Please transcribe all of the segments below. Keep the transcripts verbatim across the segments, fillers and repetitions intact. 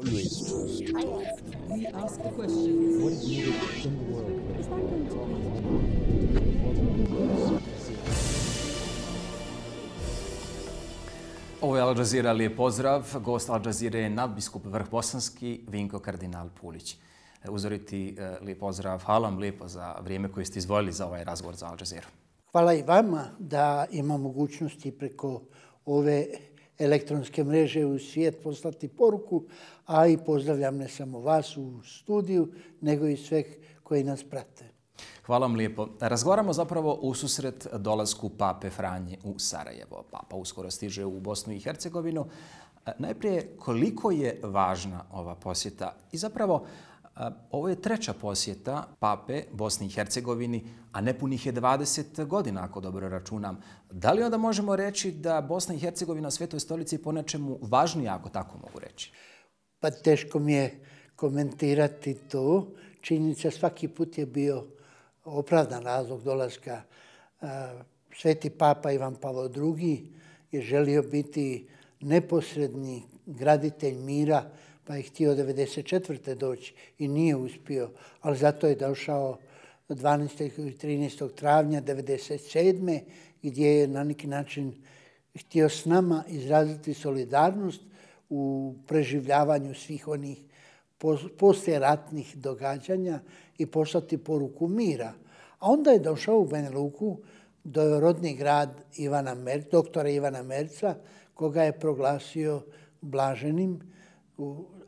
always trust. We ask the question. What is needed in the world? Is that going to be? Ovo je Al Jazeera, lijep pozdrav. Gost Al Jazeera je nadbiskup Vrhbosanski Vinko kardinal Pulić. Uzoriti lijep pozdrav. Hvala vam lijepo za vrijeme koje ste izdvojili za ovaj razgovor za Al Jazeera. Hvala i vama da ima mogućnosti preko ove elektronske mreže u svijet poslati poruku, a i pozdravljam ne samo vas u studiju, nego i sve koji nas prate. Hvala vam lijepo. Razgovaramo zapravo u susret dolasku Pape Franje u Sarajevo. Papa uskoro stiže u Bosnu i Hercegovinu. Najprije, koliko je važna ova posjeta? I zapravo, ovo je treća posjeta Pape Bosni i Hercegovini, a nepunih je dvadeset godina, ako dobro računam. Da li onda možemo reći da Bosna i Hercegovina Svetoj stolici po nečemu važnija, ako tako mogu reći? Pa teško mi je komentirati to. Činjenica svaki put je bio opravdan razlog dolaska. Sveti Papa Ivan Pavao drugi je želio biti neposredni graditelj mira, pa je htio devedeset četvrte doći i nije uspio, ali zato je došao dvanaestog i trinaestog travnja devedeset sedme gdje je na neki način htio s nama izraziti solidarnost u preživljavanju svih onih poslijeratnih događanja i poslati poruku mira. A onda je došao u Banja Luku do rodni grad Ivana Mer, doktora Ivana Merca, koga je proglasio blaženim.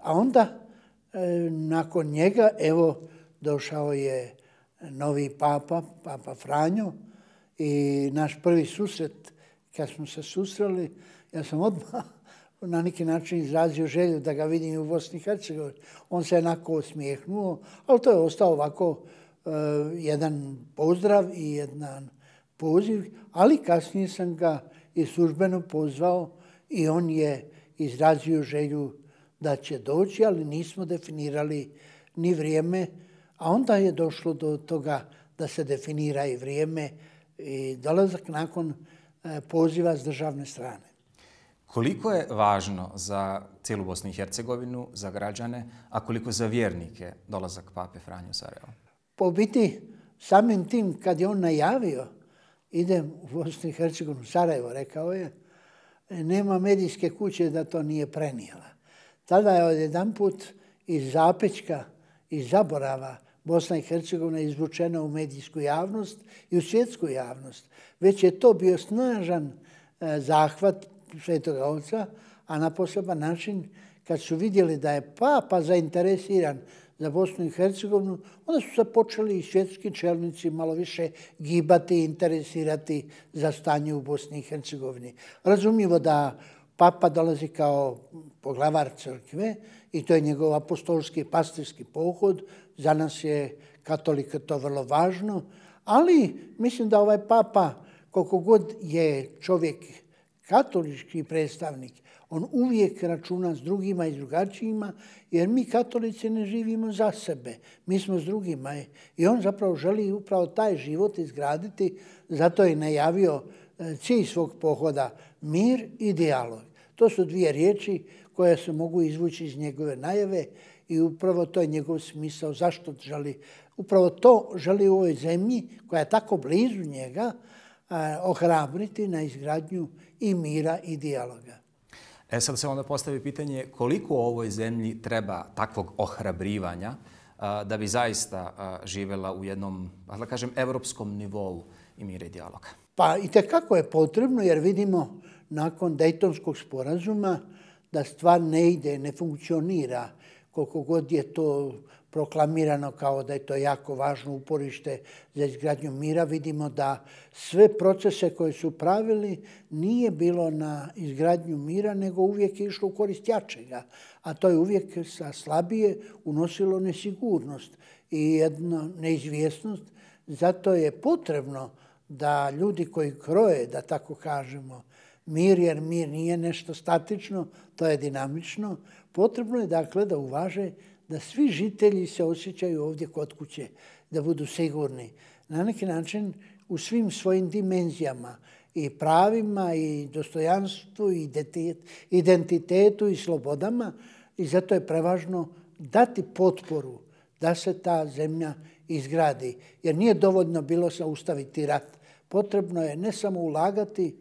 A onda, nakon njega, evo, došao je novi papa, Papa Franjo, i naš prvi susret, kad smo se susreli, ja sam odmah na neki način izrazio želju da ga vidim u Bosni i Hercegovini. On se jednako osmijehnuo, ali to je ostao ovako uh, jedan pozdrav i jedan poziv, ali kasnije sam ga i službeno pozvao i on je izrazio želju da će doći, ali nismo definirali ni vrijeme, a onda je došlo do toga da se definira i vrijeme i dolazak nakon poziva s državne strane. Koliko je važno za cijelu Bosnu i Hercegovinu, za građane, a koliko za vjernike dolazak Pape Franje u Sarajevo? Po biti, samim tim kad je on najavio idem u Bosnu i Hercegovinu, Sarajevo, rekao je, nema medijske kuće da to nije prenijela. Tada je odjedanput iz zapećka, iz zaborava Bosna i Hercegovina izvučena u medijsku javnost i u svjetsku javnost. Već je to bio snažan zahvat Svetoga Oca, a na poseban način kad su vidjeli da je Papa zainteresiran za Bosnu i Hercegovinu, onda su se počeli i svjetski čelnici malo više gibati i interesirati za stanje u Bosni i Hercegovini. Razumljivo da Papa dolazi kao poglavar crkve i to je njegov apostolski pastirski pohod. Za nas je katolika to vrlo važno, ali mislim da ovaj Papa, koliko god je čovjek katolički predstavnik, on uvijek računa s drugima i s drugačijima, jer mi katolici ne živimo za sebe, mi smo s drugima. I on zapravo želi upravo taj život izgraditi, zato je najavio cilj svog pohoda mir i dijalog. To su dvije riječi koje se mogu izvući iz njegove najave i upravo to je njegov smisao. Zašto želi? Upravo to želi u ovoj zemlji koja je tako blizu njega ohrabriti na izgradnju i mira i dijaloga. E sad se onda postavi pitanje koliko u ovoj zemlji treba takvog ohrabrivanja da bi zaista živjela u jednom, da kažem, evropskom nivou i mira i dijaloga. Pa i tekako je potrebno jer vidimo nakon Dejtonskog sporazuma da stvar ne ide, ne funkcionira. Koliko god je to proklamirano kao da je to jako važno uporište za izgradnju mira, vidimo da sve procese koje su pravili nije bilo na izgradnju mira, nego uvijek je išlo u korist jačega. A to je uvijek sa slabije unosilo nesigurnost i jednu neizvjesnost. Zato je potrebno da ljudi koji kroje, da tako kažemo, mir, jer mir nije nešto statično, to je dinamično, potrebno je dakle da uvaže da svi žitelji se osjećaju ovdje kod kuće, da budu sigurni. Na neki način u svim svojim dimenzijama i pravima i dostojanstvu i identitetu i slobodama i zato je prevažno dati potporu da se ta zemlja izgradi. Jer nije dovoljno bilo zaustaviti rat. Potrebno je ne samo ulagati,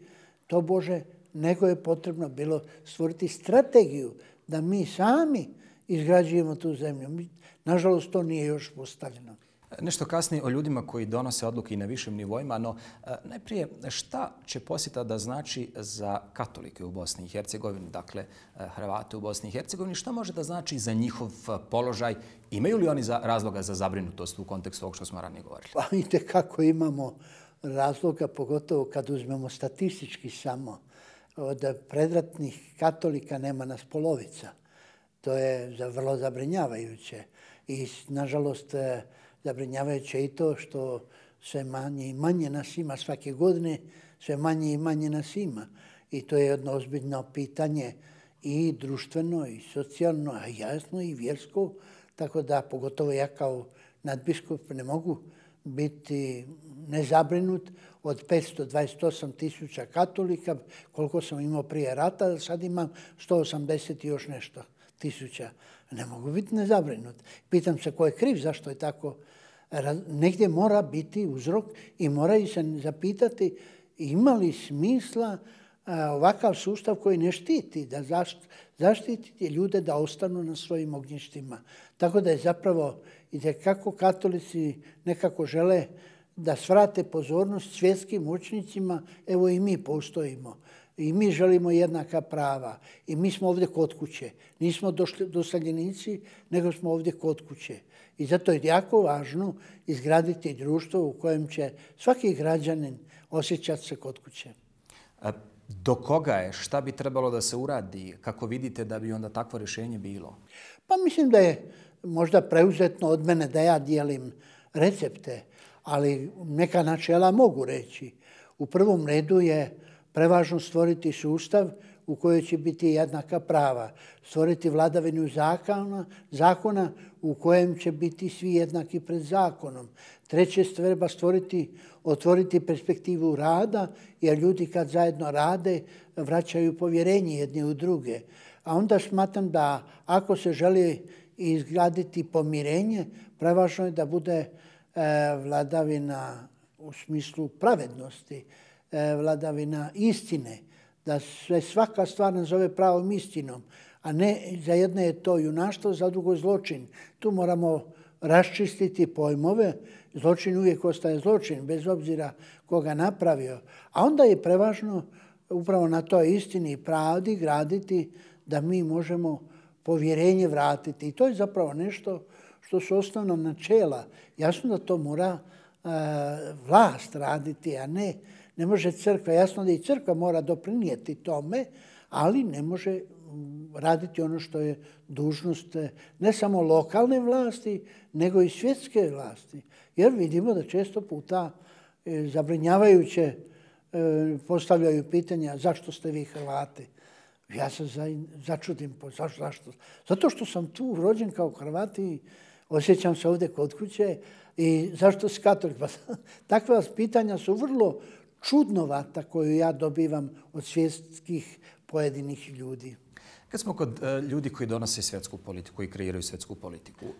to Bože, nego je potrebno bilo stvoriti strategiju da mi sami izgrađujemo tu zemlju. Nažalost, to nije još postavljeno. Nešto kasnije o ljudima koji donose odluke i na višim nivoima, no najprije šta će posjeta da znači za katolike u Bosni i Hercegovini, dakle Hrvate u Bosni i Hercegovini, šta može da znači za njihov položaj? Imaju li oni za, razloga za zabrinutost u kontekstu ovog što smo ranije govorili? Pa vidite kako imamo razloga, pogotovo kad uzmemo statistički samo. Od predratnih katolika nema nas polovica. To je vrlo zabrinjavajuće. I nažalost, zabrinjavajuće i to što sve manje i manje nas ima svake godine, sve manje i manje nas ima. I to je jedno ozbiljno pitanje i društveno, i socijalno, a jasno i vjersko. Tako da, pogotovo ja kao nadbiskup ne mogu biti nezabrinut od petsto dvadeset osam tisuća katolika, koliko sam imao prije rata, sad imam sto osamdeset i još nešto tisuća. Ne mogu biti nezabrinut. Pitam se ko je kriv, zašto je tako. Negdje mora biti uzrok i moraju se zapitati ima li smisla ovakav sustav koji ne štiti, da zaštiti ljude da ostanu na svojim ognjištima. Tako da je zapravo itekako katolici nekako žele da svrate pozornost svjetskim moćnicima, evo i mi postojimo. I mi želimo jednaka prava. I mi smo ovdje kod kuće. Nismo doseljenici, nego smo ovdje kod kuće. I zato je jako važno izgraditi društvo u kojem će svaki građanin osjećati se kod kuće. Do koga je? Šta bi trebalo da se uradi? Kako vidite da bi onda takvo rješenje bilo? Pa mislim da je možda preuzetno od mene da ja dijelim recepte, ali neka načela mogu reći. U prvom redu je prevažno stvoriti sustav u kojoj će biti jednaka prava. Stvoriti vladavinu zakona, zakona u kojem će biti svi jednaki pred zakonom. Treće, treba stvoriti, otvoriti perspektivu rada, jer ljudi kad zajedno rade vraćaju povjerenje jedni u druge. A onda smatram da ako se želi izgraditi pomirenje, prevažno je da bude e, vladavina u smislu pravednosti, e, vladavina istine, da se svaka stvar nazove pravom istinom, a ne za jedne je to junaštvo, za drugo zločin. Tu moramo raščistiti pojmove. Zločin uvijek ostaje zločin, bez obzira koga napravio. A onda je prevažno upravo na toj istini i pravdi graditi da mi možemo povjerenje vratiti. I to je zapravo nešto što su osnovna načela. Jasno da to mora uh, vlast raditi, a ne, ne može crkva. Jasno da i crkva mora doprinijeti tome, ali ne može raditi ono što je dužnost ne samo lokalne vlasti, nego i svjetske vlasti. Jer vidimo da često puta e, zabrinjavajuće e, postavljaju pitanja zašto ste vi Hrvati. Ja se za, začudim, zašto, zašto? Zato što sam tu rođen kao Hrvat i osjećam se ovdje kod kuće i zašto si katolik? Pa, takva pitanja su vrlo čudnovata koju ja dobivam od svjetskih pojedinih ljudi. Kad smo kod uh, ljudi koji donose svjetsku politiku i kreiraju svjetsku politiku, uh,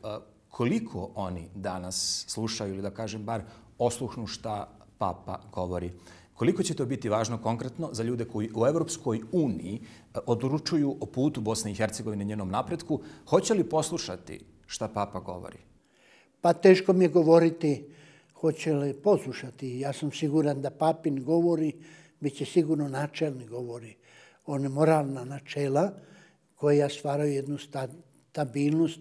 koliko oni danas slušaju ili da kažem bar osluhnu šta Papa govori? Koliko će to biti važno konkretno za ljude koji u Evropskoj uniji uh, odlučuju o putu Bosne i Hercegovine, njenom napretku? Hoće li poslušati šta Papa govori? Pa teško mi je govoriti hoće li poslušati. Ja sam siguran da Papin govori, bit će sigurno načelni govori. One moralna načela koja stvaraju jednu stabilnost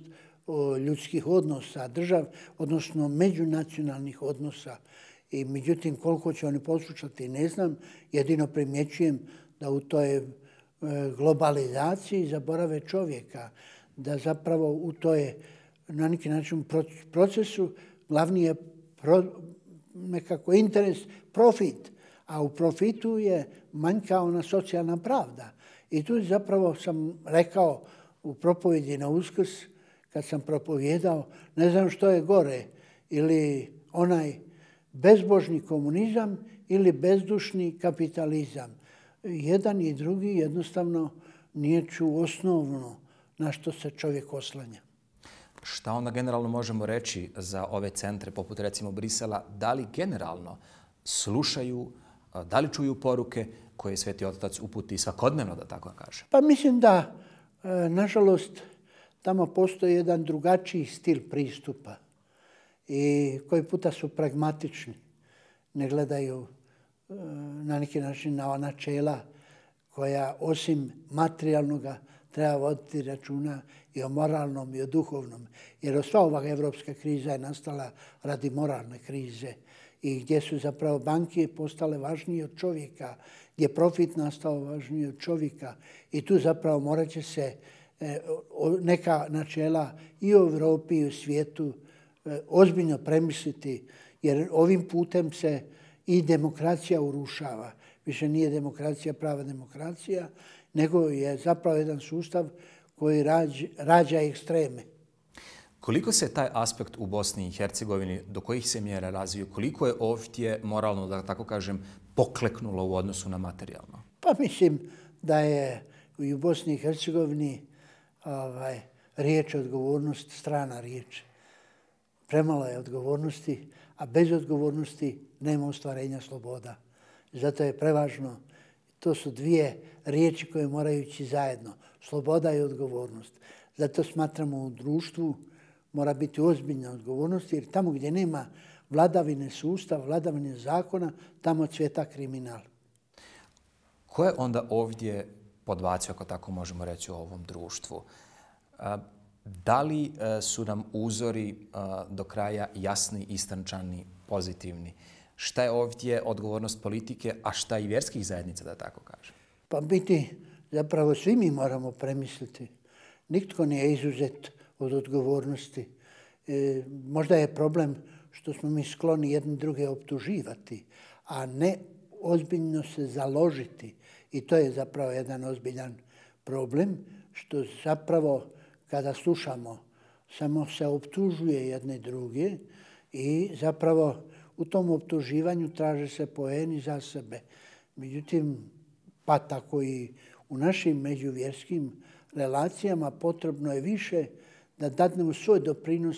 ljudskih odnosa, držav, odnosno međunacionalnih odnosa. I međutim, koliko će oni poslušati, ne znam. Jedino primjećujem da u toj globalizaciji zaborave čovjeka, da zapravo u toj na neki način procesu glavni je pro, nekako interes, profit, a u profitu je manjka ona socijalna pravda. I tu zapravo sam rekao u propovjedi na Uskrs, kad sam propovjedao, ne znam što je gore, ili onaj bezbožni komunizam ili bezdušni kapitalizam. Jedan i drugi jednostavno niječu osnovno na što se čovjek oslanja. Šta onda generalno možemo reći za ove centre, poput recimo Brisela, da li generalno slušaju, da li čuju poruke koje Sveti Otac uputi svakodnevno, da tako kažem? Pa mislim da, nažalost, tamo postoji jedan drugačiji stil pristupa i koji puta su pragmatični. Ne gledaju na neki način na načela koja osim materijalnoga treba voditi računa i o moralnom i o duhovnom. Jer sva ova evropska kriza je nastala radi moralne krize i gdje su zapravo banke postale važnije od čovjeka, gdje je profit nastao važniji od čovjeka i tu zapravo morat će se neka načela i u Evropi i u svijetu ozbiljno premisliti, jer ovim putem se i demokracija urušava. Više nije demokracija prava demokracija, nego je zapravo jedan sustav koji rađa, rađa ekstreme. Koliko se taj aspekt u Bosni i Hercegovini, do kojih se mjera razviju, koliko je ovdje moralno, da tako kažem, pokleknulo u odnosu na materijalno? Pa mislim da je i u Bosni i Hercegovini ovaj, riječ odgovornost strana riječ. Premalo je odgovornosti, a bez odgovornosti nema ostvarenja sloboda. Zato je prevažno, to su dvije riječi koje moraju ići zajedno, sloboda i odgovornost. Zato smatramo u društvu mora biti ozbiljna odgovornost, jer tamo gdje nema vladavine sustava, vladavine zakona, tamo cvjeta kriminal. Ko je onda ovdje podbacio, ako tako možemo reći, u ovom društvu? Da li su nam uzori do kraja jasni, istančani, pozitivni? Šta je ovdje odgovornost politike, a šta i vjerskih zajednica, da tako kažem? Pa biti, zapravo svi mi moramo premisliti. Nitko nije izuzet od odgovornosti. E, možda je problem što smo mi skloni jedni druge optuživati, a ne ozbiljno se založiti. I to je zapravo jedan ozbiljan problem, što zapravo kada slušamo samo se optužuje jedne druge i zapravo u tom optuživanju traže se poeni za sebe. Međutim, pa tako i u našim međuvjerskim relacijama potrebno je više da dadnemo svoj doprinos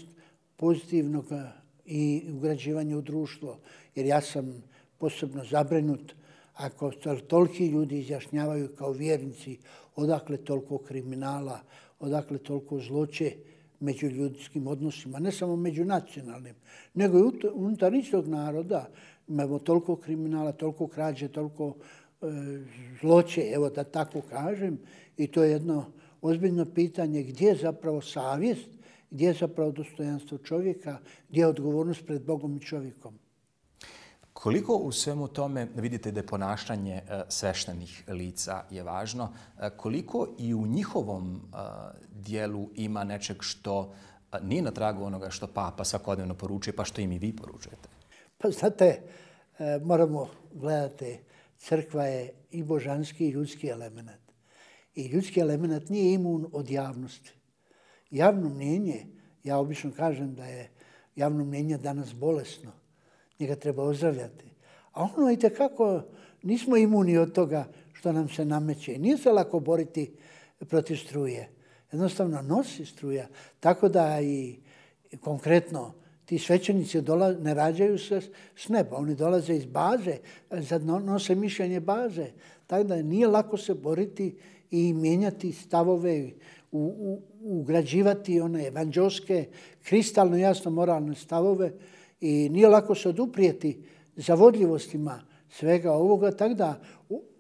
pozitivnog i ugrađivanja u društvo. Jer ja sam posebno zabrinut ako toliki ljudi izjašnjavaju kao vjernici odakle toliko kriminala, odakle toliko zloće među ljudskim odnosima, ne samo međunacionalnim, nego i unutar istog naroda imamo toliko kriminala, toliko krađe, toliko e, zloće, evo da tako kažem, i to je jedno ozbiljno pitanje gdje je zapravo savjest, gdje je zapravo dostojanstvo čovjeka, gdje je odgovornost pred Bogom i čovjekom. Koliko u svemu tome vidite da je ponašanje sveštenih lica je važno, koliko i u njihovom dijelu ima nečeg što nije na tragu onoga što Papa svakodnevno poručuje, pa što im i vi poručujete? Pa znate, moramo gledati, crkva je i božanski i ljudski element. I ljudski element nije imun od javnosti. Javno mnjenje, ja obično kažem da je javno mnjenje danas bolesno. Njega treba ozdravljati. A ono i tekako nismo imuni od toga što nam se nameće. Nije se lako boriti protiv struje. Jednostavno nosi struja. Tako da i konkretno ti svećenici ne rađaju se s neba. Oni dolaze iz baze, sad nose mišljenje baze. Tako da nije lako se boriti i mijenjati stavove, u, u, ugrađivati one evanđelske, kristalno jasno moralne stavove. I nije lako se oduprijeti zavodljivostima svega ovoga, tako da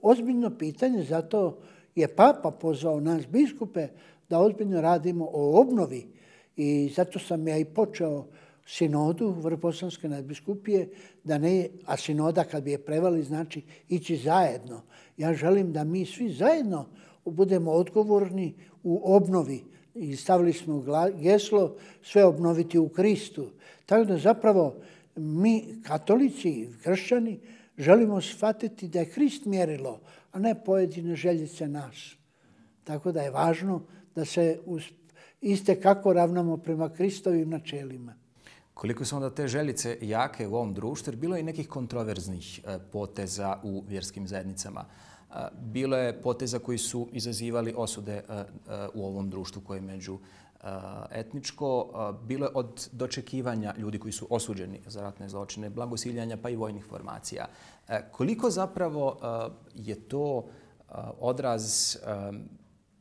ozbiljno pitanje, zato je Papa pozvao nas biskupe da ozbiljno radimo o obnovi i zato sam ja i počeo sinodu Vrbosanske nadbiskupije, da ne, a sinoda kad bi je prevali znači ići zajedno. Ja želim da mi svi zajedno budemo odgovorni u obnovi i stavili smo geslo sve obnoviti u Kristu. Tako da zapravo mi, katolici i kršćani, želimo shvatiti da je Krist mjerilo, a ne pojedine željice nas. Tako da je važno da se iste kako ravnamo prema Kristovim načelima. Koliko su onda te željice jake u ovom društvu, jer bilo je i nekih kontroverznih poteza u vjerskim zajednicama. bilo je poteza koji su izazivali osude u ovom društvu koje je među etničko. Bilo je od dočekivanja ljudi koji su osuđeni za ratne zločine, blagosiljanja pa i vojnih formacija. Koliko zapravo je to odraz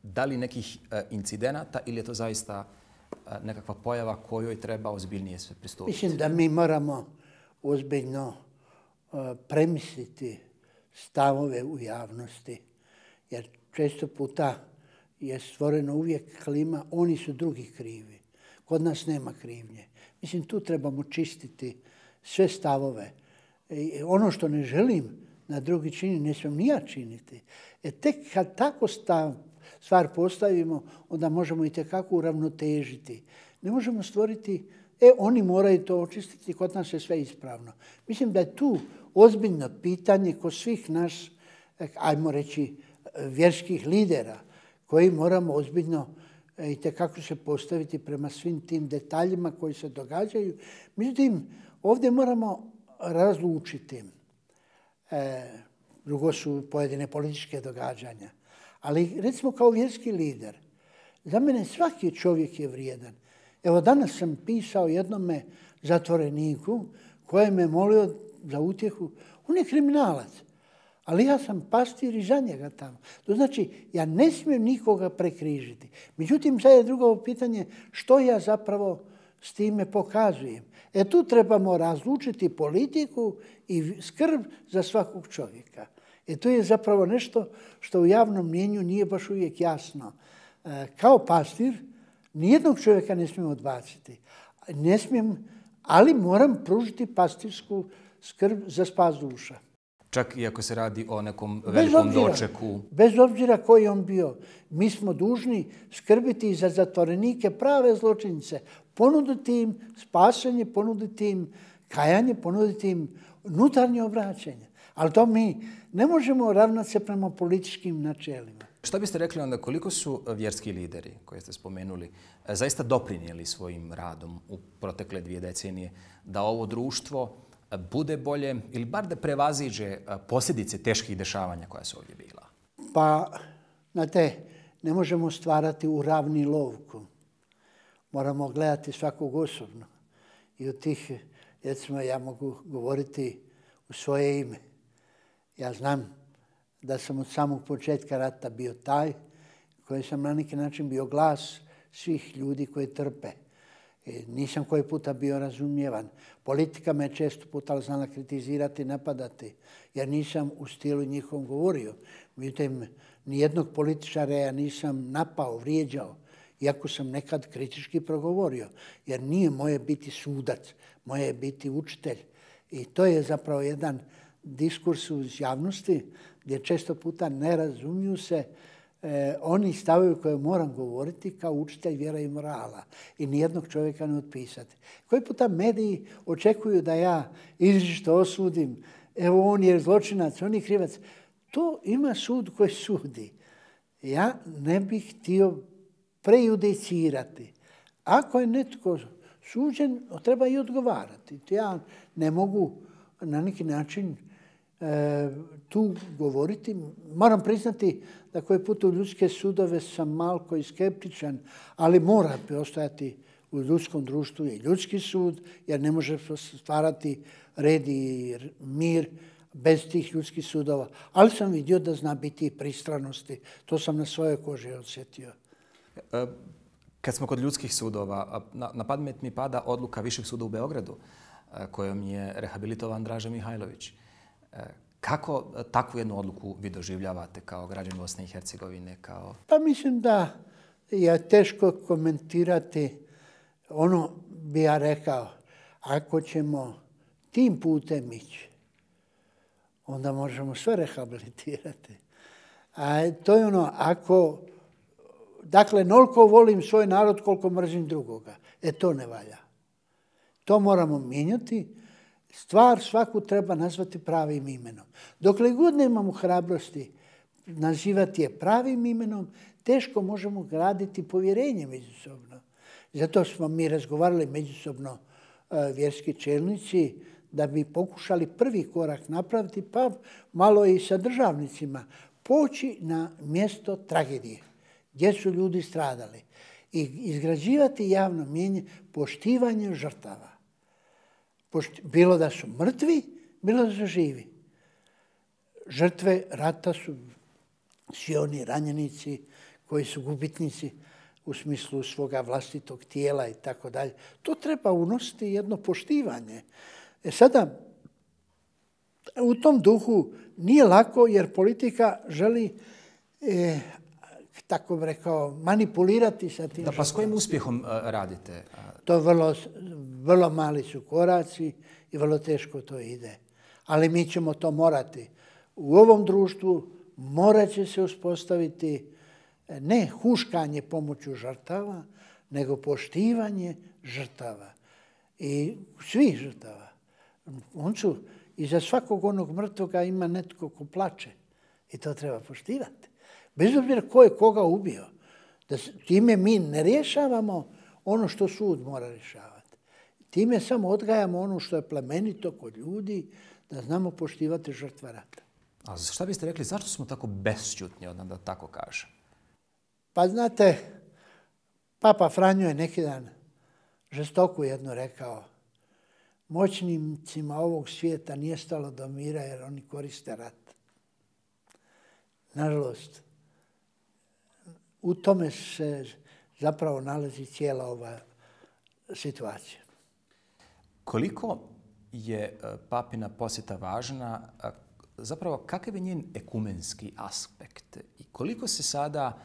da li nekih incidenata ili je to zaista nekakva pojava kojoj treba ozbiljnije sve pristupiti? Mislim da mi moramo ozbiljno premisliti stavove u javnosti, jer često puta je stvoreno uvijek klima, oni su drugi krivi. Kod nas nema krivnje. Mislim, tu trebamo čistiti sve stavove. I ono što ne želim na drugi čini, ne smijem ni ja činiti. E tek kad tako stav, stvar postavimo, onda možemo i tekako uravnotežiti. Ne možemo stvoriti, e, oni moraju to očistiti, kod nas je sve ispravno. Mislim da je tu ozbiljno pitanje kod svih nas, ajmo reći, vjerskih lidera, koji moramo ozbiljno i tekako se postaviti prema svim tim detaljima koji se događaju. Međutim, ovdje moramo razlučiti. E, drugo su pojedine političke događanja. Ali recimo kao vjerski lider, za mene svaki čovjek je vrijedan. Evo danas sam pisao jednome zatvoreniku koji me molio za utjehu. On je kriminalac, ali ja sam pastir i za njega tamo. To znači, ja ne smijem nikoga prekrižiti. Međutim, sad je drugo pitanje što ja zapravo s time pokazujem. E tu trebamo razlučiti politiku i skrb za svakog čovjeka. E to je zapravo nešto što u javnom mnijenju nije baš uvijek jasno. E, kao pastir nijednog čovjeka ne smijem odbaciti. Ne smijem, ali moram pružiti pastirsku skrb za spas duša. Čak i ako se radi o nekom velikom bez obzira, dočeku. Bez obzira koji on bio, mi smo dužni skrbiti za zatvorenike prave zločince, ponuditi im spasenje, ponuditi im kajanje, ponuditi im unutarnje obraćanje. Ali to mi ne možemo ravnati se prema političkim načelima. Šta biste rekli onda, koliko su vjerski lideri koje ste spomenuli zaista doprinijeli svojim radom u protekle dvije decenije da ovo društvo bude bolje ili bar da prevaziđe posljedice teških dešavanja koja su ovdje bila? Pa, znate, ne možemo stvarati u ravni lovku. Moramo gledati svakog osobno. I od tih, recimo, ja mogu govoriti u svoje ime. Ja znam da sam od samog početka rata bio taj koji sam na neki način bio glas svih ljudi koji trpe. Nisam koji puta bio razumijevan. Politika me često puta znala kritizirati i napadati, jer nisam u stilu njihovom govorio. Međutim, nijednog političara ja nisam napao, vrijeđao, iako sam nekad kritički progovorio, jer nije moje biti sudac, moje je biti učitelj. I to je zapravo jedan diskurs u javnosti gdje često puta ne razumiju se E, oni stavovi koje moram govoriti kao učitelj vjera i morala i nijednog čovjeka ne otpisati. Koji puta mediji očekuju da ja izričito osudim, evo on je zločinac, on je krivac. To ima sud koji sudi. Ja ne bih htio prejudicirati. Ako je netko suđen, treba i odgovarati. Ja ne mogu na neki način e, tu govoriti. Moram priznati da koji put u ljudske sudove sam malko i skeptičan, ali mora postojati u ljudskom društvu i ljudski sud, jer ne može stvarati red i mir bez tih ljudskih sudova. Ali sam vidio da zna biti i pristranosti. To sam na svojoj koži osjetio. Kad smo kod ljudskih sudova, na pamet mi pada odluka Višeg suda u Beogradu, kojom je rehabilitovan Draža Mihajlović. Kako takvu jednu odluku vi doživljavate kao građan Bosne i Hercegovine? Kao... Pa mislim da je teško komentirati. Ono bi ja rekao, ako ćemo tim putem ići, onda možemo sve rehabilitirati. A to je ono, ako, dakle, noliko volim svoj narod koliko mrzim drugoga. E to ne valja. To moramo mijenjati. Stvar svaku treba nazvati pravim imenom. Dokle god nemamo hrabrosti nazivati je pravim imenom, teško možemo graditi povjerenje međusobno. Zato smo mi razgovarali međusobno vjerski čelnici da bi pokušali prvi korak napraviti, pa malo i sa državnicima poći na mjesto tragedije, gdje su ljudi stradali i izgrađivati javno mnijenje poštivanjem žrtava. Pošti, bilo da su mrtvi, bilo da su živi. Žrtve rata su svi oni ranjenici koji su gubitnici u smislu svoga vlastitog tijela i tako dalje. To treba unositi jedno poštivanje. E sada, u tom duhu nije lako jer politika želi, e, tako bih rekao, manipulirati sa tim. Da, pa s kojim uspjehom uh, radite? To vrlo, vrlo mali su koraci i vrlo teško to ide. Ali mi ćemo to morati. U ovom društvu morat će se uspostaviti ne huškanje pomoću žrtava, nego poštivanje žrtava. I svih žrtava. On su, iza svakog onog mrtvoga ima netko ko plače. I to treba poštivati. Bez obzira ko je koga ubio. Da time mi ne rješavamo ono što sud mora rješavati. Time samo odgajamo ono što je plemenito kod ljudi, da znamo poštivati žrtva rata. A šta biste rekli, zašto smo tako besćutni, da tako kažem? Pa znate, Papa Franjo je neki dan žestoko jedno rekao, moćnicima ovog svijeta nije stalo do mira jer oni koriste rat. Nažalost, u tome se zapravo nalazi cijela ova situacija. Koliko je papina posjeta važna, zapravo kakav je njen ekumenski aspekt i koliko se sada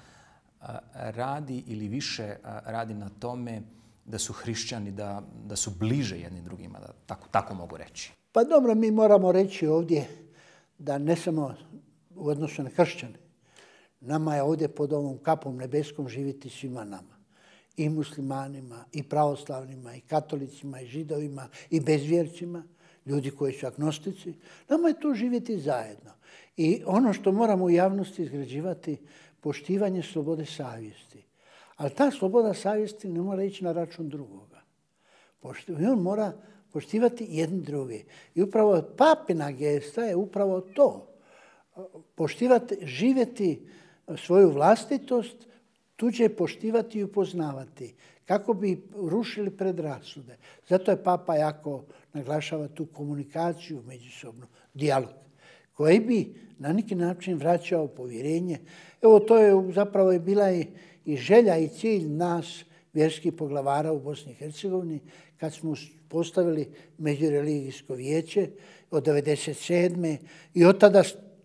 radi ili više radi na tome da su hrišćani, da, da su bliže jedni drugima, da tako, tako mogu reći? Pa dobro, mi moramo reći ovdje da ne samo u odnosu na kršćane, nama je ovdje pod ovom kapom nebeskom živjeti svima nama. I muslimanima, i pravoslavnima, i katolicima, i židovima, i bezvjercima, ljudi koji su agnostici. Nama je tu živjeti zajedno. I ono što moramo u javnosti izgrađivati, poštivanje slobode savjesti. Ali ta sloboda savjesti ne mora ići na račun drugoga. I on mora poštivati jedni drugi. I upravo papina gesta je upravo to. Poštivati, živjeti svoju vlastitost, tuđe poštivati i upoznavati. Kako bi rušili predrasude. Zato je Papa jako naglašava tu komunikaciju međusobno, dijalog, koji bi na neki način vraćao povjerenje. Evo, to je zapravo je bila i, i želja i cilj nas, vjerskih poglavara u Bosni i Hercegovini, kad smo postavili međureligijsko vijeće od devedeset sedme i od tada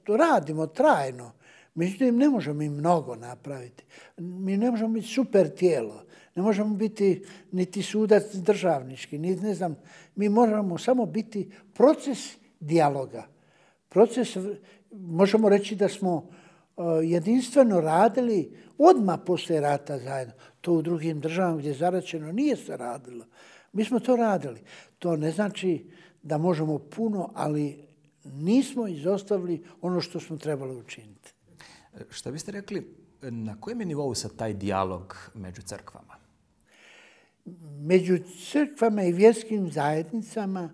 radimo trajno. Međutim, ne možemo mi mnogo napraviti. Mi ne možemo biti super tijelo. Ne možemo biti niti sudac državnički, niti ne znam. Mi moramo samo biti proces dijaloga. Proces, možemo reći da smo uh, jedinstveno radili odmah poslije rata zajedno. To u drugim državama gdje je zaračeno nije se radilo. Mi smo to radili. To ne znači da možemo puno, ali nismo izostavili ono što smo trebali učiniti. Šta biste rekli, na kojem je nivou sad taj dijalog među crkvama? Među crkvama i vjerskim zajednicama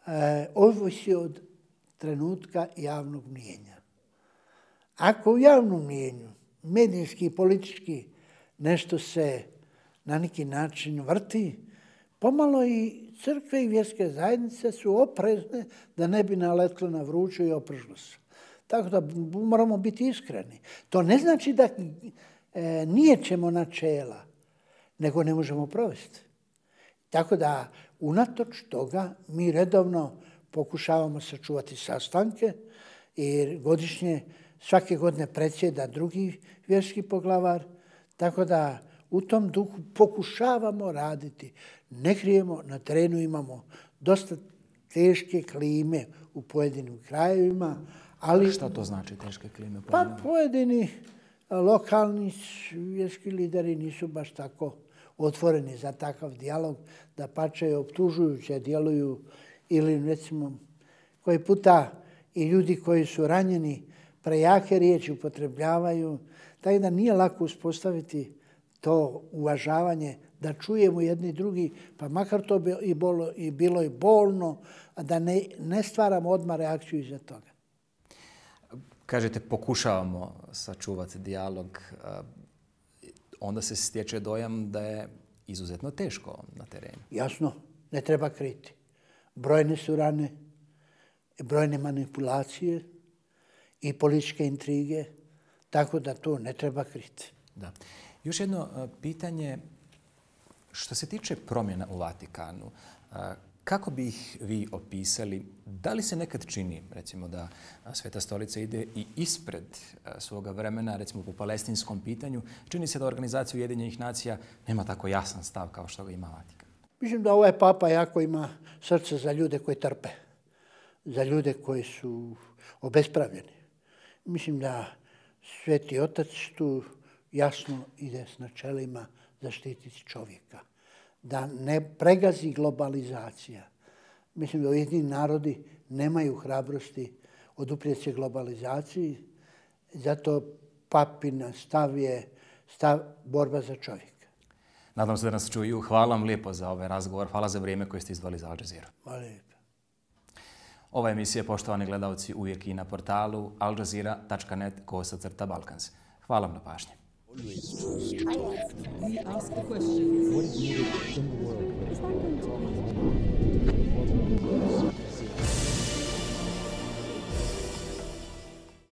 e, ovisi od trenutka javnog mnijenja. Ako u javnom mnijenju, medijski i politički, nešto se na neki način vrti, pomalo i crkve i vjerske zajednice su oprezne da ne bi naletlo na vruću i opržilo se. Tako da moramo biti iskreni. To ne znači da e, nijećemo načela, nego ne možemo provesti. Tako da, unatoč toga, mi redovno pokušavamo sačuvati sastanke i godišnje, svake godine predsjeda drugi vjerski poglavar. Tako da, u tom duhu pokušavamo raditi. Ne krijemo, na terenu imamo dosta teške klime u pojedinim krajevima. Ali, šta to znači teške klime? Pa pojedini lokalni vjerski lideri nisu baš tako otvoreni za takav dijalog, da pače optužujuće djeluju ili recimo koji puta i ljudi koji su ranjeni prejake riječi upotrebljavaju. Tako da nije lako uspostaviti to uvažavanje, da čujemo jedni drugi, pa makar to bi i, bolo, i bilo i bolno, a da ne, ne stvaramo odmah reakciju iza toga. kažete pokušavamo sačuvati dijalog, onda se stječe dojam da je izuzetno teško na terenu. Jasno, ne treba kriti. Brojne su rane, brojne manipulacije i političke intrige, tako da to ne treba kriti. Da. Još jedno pitanje, što se tiče promjena u Vatikanu, kako bi ih vi opisali? Da li se nekad čini, recimo, da Sveta stolica ide i ispred svoga vremena, recimo po palestinskom pitanju? Čini se da organizacija Ujedinjenih nacija nema tako jasan stav kao što ga ima Vatikan. Mislim da ovaj papa jako ima srce za ljude koji trpe, za ljude koji su obespravljeni. Mislim da Sveti Otac tu jasno ide s načelima zaštititi čovjeka. Da ne pregazi globalizacija. Mislim da Ujedinjeni narodi nemaju hrabrosti oduprijeti se globalizaciji, zato papin stav je stav borba za čovjeka. Nadam se da nas čuju. Hvala vam lijepo za ovaj razgovor. Hvala za vrijeme koje ste izdvojili za Al Jazeera. Hvala lijepo. Ova emisija, poštovani gledalci, uvijek i na portalu al jazeera tačka net kosacrta balkans. Hvala vam na pažnji. We ask the questions. What is needed in the world?